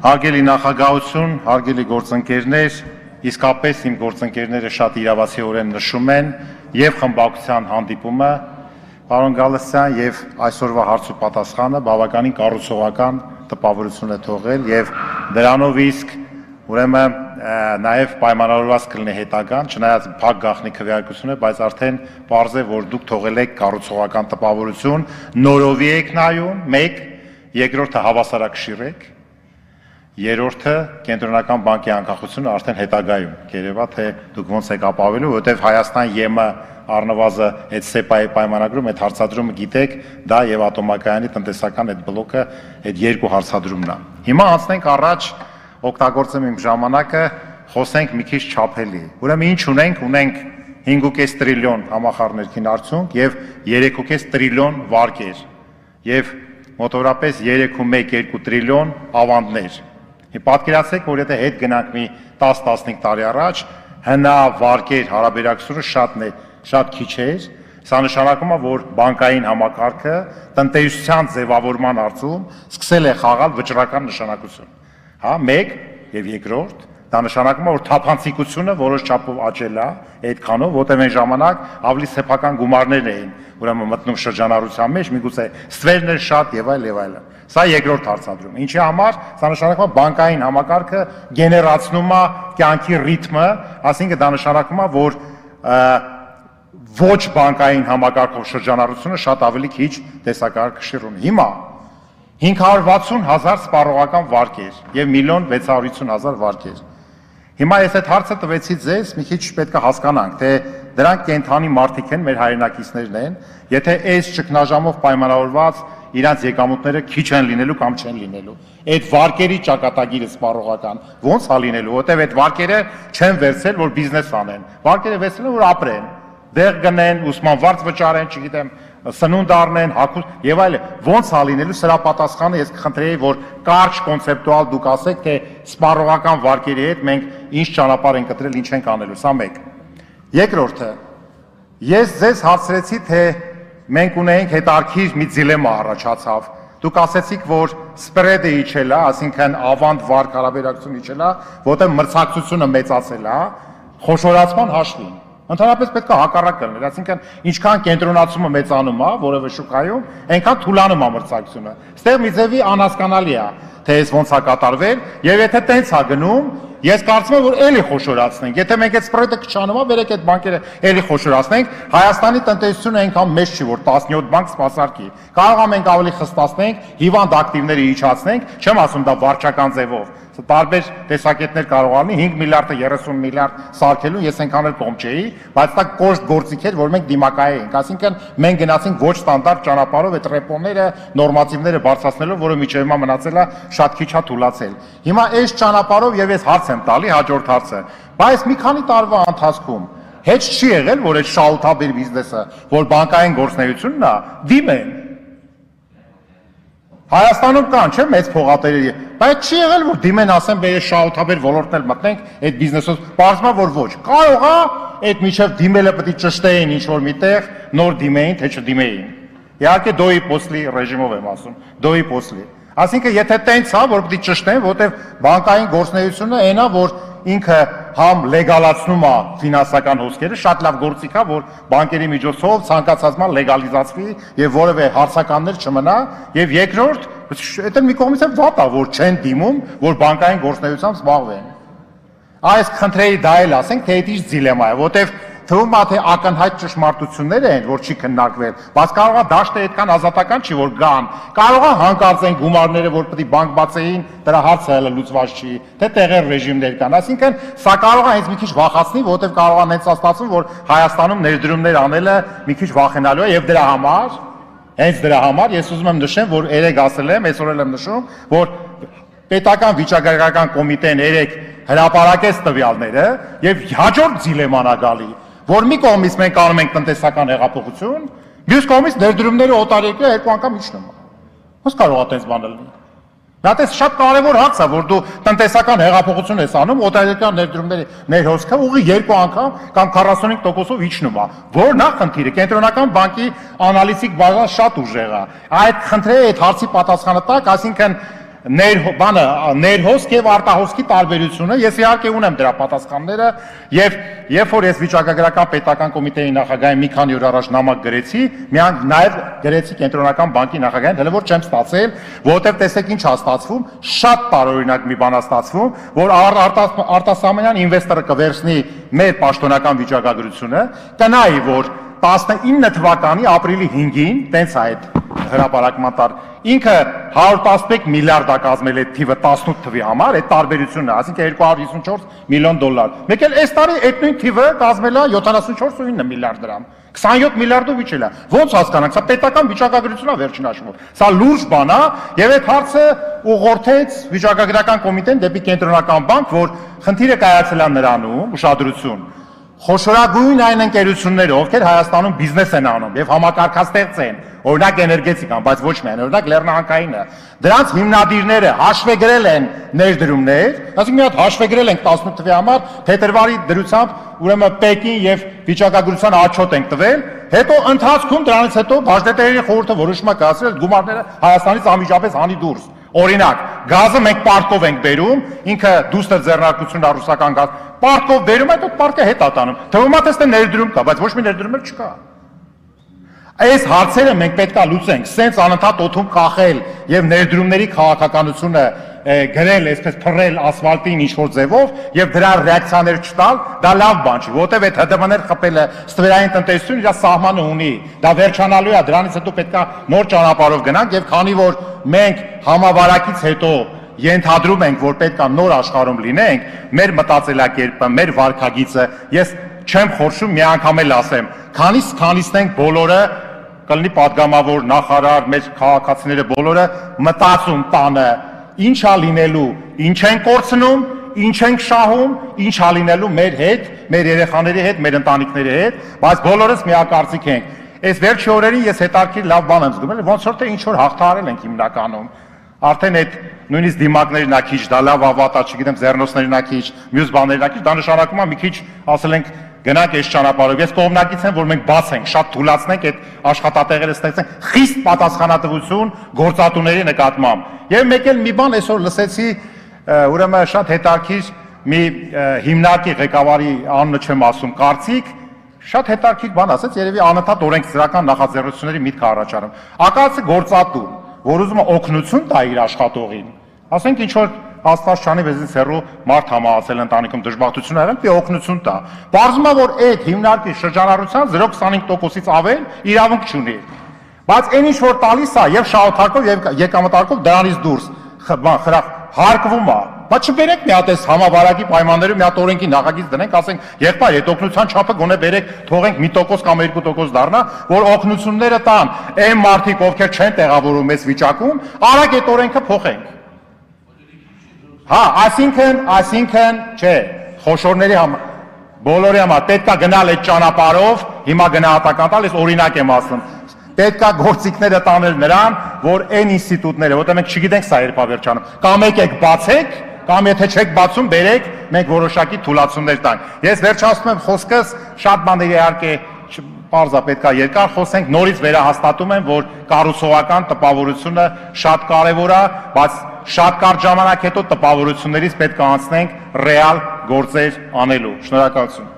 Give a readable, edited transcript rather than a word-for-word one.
Հարգելի նախագահություն, հարգելի գործընկերներ, իսկապես իմ գործընկերները շատ իրավացիորեն նշում են եւ խմբակցության հանդիպումը, պարոն Գալստյան, եւ այսօրվա հարց ու պատասխանը բավականին կառուցողական տպավորություն է թողել եւ դրանով իսկ ուրեմն նաեւ պայմանավորված կլինի հետագան, չնայած փակ գաղտնի քվեարկություն է, բայց արդեն պարզ է, որ դուք թողել եք կառուցողական տպավորություն, նորովի եք նայում, մեկ, երկրորդը հավասարակշիռ եք, երրորդը կենտրոնական բանկի անկախությունը արդեն հետագայում կերևա թե դուք ոնց եք ապավելու, որովհետև Հայաստան ԵՄ առնվազը այդ սեպայի պայմանագրում այդ հարցադրումը գիտեք, դա եւ ատոմակայանի տնտեսական այդ բլոկը այդ երկու հարցադրումն է։ Հիմա անցնենք առաջ, օգտագործեմ իմ ժամանակը, խոսենք մի քիչ չափելի։ Ուրեմն ինչ ունենք, ունենք 5.5 տրիլիոն համախառներքին արդյունք եւ 3.5 տրիլիոն վարկեր եւ մոտավորապես 3.1-2 տրիլիոն ավանդներ։ Պատկերացրեք, որ եթե հետ գնանք մի 10-15 տարի առաջ, հնա վարկեր հարաբերակցությունը շատ քիչ էր, սա նշանակում է, որ բանկային համակարգը տնտեսության ձևավորման հարցում սկսել է խաղալ վճռական նշանակություն։ Հա, մեկ եւ երկրորդ, դա նշանակում է, որ թափանցիկությունը որոշ չափով աճել է այդքանով, որտեղ այն ժամանակ ավելի սեփական գումարներ էին, ուրեմն մտնում շրջանառության մեջ, միգուցե ստվերներ շատ եւ այլ եւ այլն։ Սա երկրորդ հարցադրում։ Ինչի համար, սա նշանակում է բանկային համակարգը գեներացնում է կյանքի ռիթմը, այսինքն դա նշանակում է, որ ոչ բանկային համակարգով շրջանառությունը շատ ավելի քիչ տեսակարգ ունի։ Հիմա 560,000 սպառողական վարկեր եւ 1,650,000 վարկեր։ Հիմա ես այդ հարցը տվեցի ձեզ, մի քիչ պետք է հասկանանք, թե դրանք կենթանի մարդիկ են, մեր հայրենակիցներն են, եթե այս ճգնաժամով պայմանավորված իրանց եկամուտները քիչ են լինելու կամ չեն լինելու։ Այդ վարկերի ճակատագիրը սպառողական ո՞նց է լինելու, որտեղ այդ վարկերը չեն վերցել, որ բիզնես անեն։ Վարկերը վերցնել են, որ ապրեն, դեղ գնեն, ուսման վարձ վճարեն, չգիտեմ, սնունդ առնեն, հագուստ եւ այլն։ Ո՞նց է լինելու, սրա պատասխանը ես կխնդրեի, որ կարճ կոնցեպտուալ դուք ասեք, թե սպառողական վարկերի հետ մենք ինչ ճանապարհ ենք կտրել, ինչ ենք անելու, սա մեկ։ Երկրորդը, ես ձեզ հարցրեցի, թե մենք ունենք հետարքիր մի դիլեմա առաջացավ։ Դուք ասեցիք, որ սպրեդը իջել է, այսինքն ավանդ վարկ հարաբերակցությունը իջել է, որտեղ մրցակցությունը մեծացել է, խոշորացման հաշվին։ Ընդհանրապես պետք է հակառակը լինել, այսինքն ինչքան կենտրոնացումը մեծանում է որևէ շուկայում, այնքան թուլանում է մրցակցությունը։ Այստեղ մի ձևի անհասկանալի է, թե այս ոնց է կատարվել, եւ եթե տենց է գնում, ես կարծում եմ, որ էլի խոշորացնենք։ Եթե մենք այդ սպրեդը քչանում է, վերեք այդ բանկերը էլի խոշորացնենք, Հայաստանի տնտեսությունը այնքան մեծ չի, որ 17 բանկ սպասարկի։ Կարող է մենք ավելի խստացնենք, հիվանդ ակտիվները իջացնենք, չեմ ասում դա վարչական ձևով։ Տարբեր տեսակետներ կարող լինի 5 միլիարդը 30 միլիարդ սարքելու, ես այնքան էլ կողմ չէի, բայց դա կոշտ գործիք էր, որ մենք դիմակայ էինք, այսինքն մենք գնացինք ոչ ստանդարտ ճանապարհով այդ ռեպոները, նորմատիվները բարձրացնելով, որը միջև հիմա մնացել է շատ քիչ է թուլացել։ Հիմա այս ճանապարհով եւ ես հարց եմ տալի, հաջորդ հարցը, բայց մի քանի տարվա ընթացքում հետ չի եղել, որ այդ շահութաբեր բիզնեսը, որ բանկային գործունեությունն է, դիմեն։ Հայաստանում կան, չէ՞, մեծ փողատերերի, բայց չի եղել, որ դիմեն ասեն, բեր շահութաբեր ոլորտն էլ մտնենք այդ բիզնեսով, պարզվում է, որ ոչ։ Կարող է այդ միջև դիմելը պետք է ճշտեին ինչ-որ միտեղ, նոր դիմեին, թե չդիմեին։ Իհարկե դոյի պոսլի ռեժիմով եմ ասում, դոյի պոսլի։ Այսինքն, եթե տենց է, որ պետք է ճշտեն, որտեղ բանկային գործունեությունը այնա, որ ինքը համ լեգալացնում է ֆինանսական հոսքերը, շատ լավ գործիք է, որ բանկերի միջոցով ցանկացած բան լեգալիզացվի եւ որևէ հարցականներ չմնա, եւ երկրորդ, դա մի կողմից է վատ է, որ չեն դիմում, որ բանկային գործունեությամբ զբաղվեն։ Այս խնդրեի դա էլ ասենք, թե դա դիլեմա է, որտեղ թվում է, թե ակնհայտ ճշմարտություններ են, որ չի քննարկվել, բայց կարող է դաշտը այդքան ազատական չի, որ գան, կարող է հանկարծ են գումարները, որ պետք է բանկ բացեին, դրա հարցը հələ լուծված չի, թե տեղեր ռեժիմներ կան, այսինքն սա կարող է հենց մի քիչ վախացնի, որովհետև կարող է հենց ստացվում, որ Հայաստանում ներդրումներ անելը մի քիչ վախենալու է եւ հենց դրա համար ես ուզում եմ նշեմ, որ երեք ասել եմ, այսօր էլ եմ նշում, որ պետական վիճակագրական կոմիտեն երեք հրապարակեց տվյալները եւ հաջորդ դիլեման է գալի, որ մի կողմից մենք անում ենք տնտեսական հեղափոխություն, մյուս կողմից ներդրումները օտարերկրյա երկու անգամ իջնում է։ Ոնց կարող է այդպես բան լինել։ Դա շատ կարևոր հարց է, որ դու տնտեսական հեղափոխություն ես անում, օտարերկրյա ներդրումների ներհոսքը ուղի 2 անգամ կամ 45%-ով իջնում է։ Որն է խնդիրը։ Կենտրոնական բանկի անալիտիկ բազան շատ ուժեղ է։ Այդ խնդրի այդ հարցի պատասխանը տակ, այսինքն ներհոսք եւ արտահոսքի տարբերությունը, ես իհարկե ունեմ դրա պատասխանները եւ երբ որ ես վիճակագրական պետական կոմիտեի նախագահին մի քանի օր առաջ նամակ գրեցի, միայն նաեւ գրեցի կենտրոնական բանկի նախագահին, հələ որ չեմ ստացել, որովհետեւ տեսեք ինչ է ստացվում, շատ տարօրինակ մի բան է ստացվում, որ արտասահմանյան ինվեստորը կվերցնի մեր պաշտոնական վիճակագրությունը, կնայի, որ 19 թվականի ապրիլի 5-ին, տենց է այդ հրապարակման տար, ինքը 111 միլիարդ է կազմել այդ թիվը 18 թվի համար, այդ տարբերությունն է, այսինքն 254 միլիոն դոլար։ Մեկ էլ այս տարի այդ նույն թիվը կազմել է 74.9 միլիարդ դրամ, 27 միլիարդով իջել է։ Ոնց հասկանանք, սա պետական վիճակագրություն է վերջին հաշվով։ Սա լուրջ բան է, եւ այդ հարցը ուղղորդեց վիճակագրական կոմիտեն դեպի կենտրոնական բանկ, որ խնդիրը կայացել է նրանում, ուշադրություն։ Խոշորագույն այն ընկերությունները, ովքեր Հայաստանում բիզնես են անում եւ համակարգաստեղծ են, օրինակ էներգետիկան, բայց ոչ միայն, օրինակ Լեռնահանքայինը, դրանց հիմնադիրները հաշվեգրել են ներդրումներ, ասենք մի հատ հաշվեգրել ենք 18 թվի համար, փետրվարի դրությամբ, ուրեմն Պեկին եւ վիճակագրության отчет ենք տվել, հետո ընթացքում դրանից հետո բաժնետերերի խորհուրդը որոշում է կայացրել գումարները Հայաստանից անմիջապես հանի դուրս։ Օրինակ, գազը մենք պարտքով ենք բերում, ինքը դուստր ձեռնարկությունն է ռուսական գազ, պարտքով բերում, այդ պարտքը հետ է տանում։ Թվում է թե ներդրում կա, բայց ոչ մի ներդրում չկա։ Այս հարցերը մենք պետք է լուծենք, սենց անընդհատ օդում կախել եւ ներդրումների քաղաքականությունը գրել, այսպես փռել ասֆալտին ինչ-որ ձևով եւ դրա ռեակցիաներ չտալ, դա լավ բան չի, որովհետեւ այդ ՀԴՄ-ներ խփելը ստվերային տնտեսություն իր սահմանը ունի, դա վերջանալու է, դրանից հետո պետք է նոր ճանապարհով գնանք եւ քանի որ մենք համավարակից հետո ենթադրում ենք, որ պետք է նոր աշխարհում լինենք, մեր մտածելակերպը, մեր վարքագիծը, ես չեմ խորշում մի անգամ էլ ասեմ, քանիսն ենք բոլորը կլինի падգամավոր, նախարար, մեր քաղաքացիները բոլորը մտածում տանը, ինչ է լինելու, ինչ են կորցնում, ինչ ենք շահում, ինչ է լինելու մեր հետ, մեր երեխաների հետ, մեր ընտանիքների հետ, բայց բոլորս միակարծիք ենք։ Այս վերջի օրերին ես հետաքրքիր լավ բան եմ զգում, ոնց որ թե ինչ որ հաղթահարել ենք հիմնականում։ Արդեն այդ նույնիսկ դիմակներն ա քիչ, դա լավ ավատա, չգիտեմ, ձեռնոցներն ա քիչ, մյուս բաներն ա քիչ, դա նշանակում է մի քիչ ասել ենք գնանք այս ճանապարհով։ Ես կողմնակից եմ, որ մենք բաց ենք, շատ թույլատնենք այդ աշխատատեղերը ստեղծենք, խիստ պատասխանատվություն գործատուների նկատմամբ։ Եվ մեկ էլ մի բան այսօր լսեցի, ուրեմն շատ հետաքրքիր մի հիմնարկի ղեկավարի անունը չեմ ասում, կարծիք, շատ հետաքրքիր բան ասեց, երևի անընդհատ օրենսդրական նախաձեռնությունների միտք առաջանում։ Ակացը գործատու, որ ուզում է օգնություն տա իր աշխատողին, ասենք ինչ որ Աստված չանի վեզից հեռու մարդ համահասել ընտանիքում դժբախտություն արել, պի օգնություն տա։ Պարզվում է, որ այդ հիմնարկի շրջանառության 0.25%-ից ավել իրավունք չունի։ Բայց այն ինչ որ տալիս է եւ շահութարկով եւ եկամտարկով դրանից դուրս հարկվում է։ Բայց չբերեք մի հատ այս համավարակի պայմաններում մի հատ օրենքի նախագիծ դնենք, ասենք, եղբայր, այդ օգնության չափը գոնե բերեք, թողենք 1% կամ 2% դառնա, որ օգնությունները տան այն մարդիկ, ովքեր չեն տեղավորում այս վիճակում, արագ այդ օրենքը փոխենք։ Հա, այսինքն, չէ, խոշորների համար, բոլորի համար պետք է գնալ այդ ճանապարհով, հիմա գնահատական տալ, ես օրինակ եմ ասում։ Պետք է գործիքները տանել նրան, որ այն ինստիտուտները, որտեղ մենք չգիտենք սա երբ վերջանում, կամ եկեք բացեք, կամ եթե չեք բացում, բերեք, մենք որոշակի թույլատություններ տանք։ Ես վերջացնում եմ խոսքս, շատ բաներ իհարկե պարզա պետք է երկար խոսենք, նորից վերահաստատում եմ, որ կառուցողական տպավորությունը շատ կարևոր է, բայց շատ կարճ ժամանակ հետո տպավորություններից պետք է անցնենք ռեալ գործեր անելու։ Շնորհակալություն։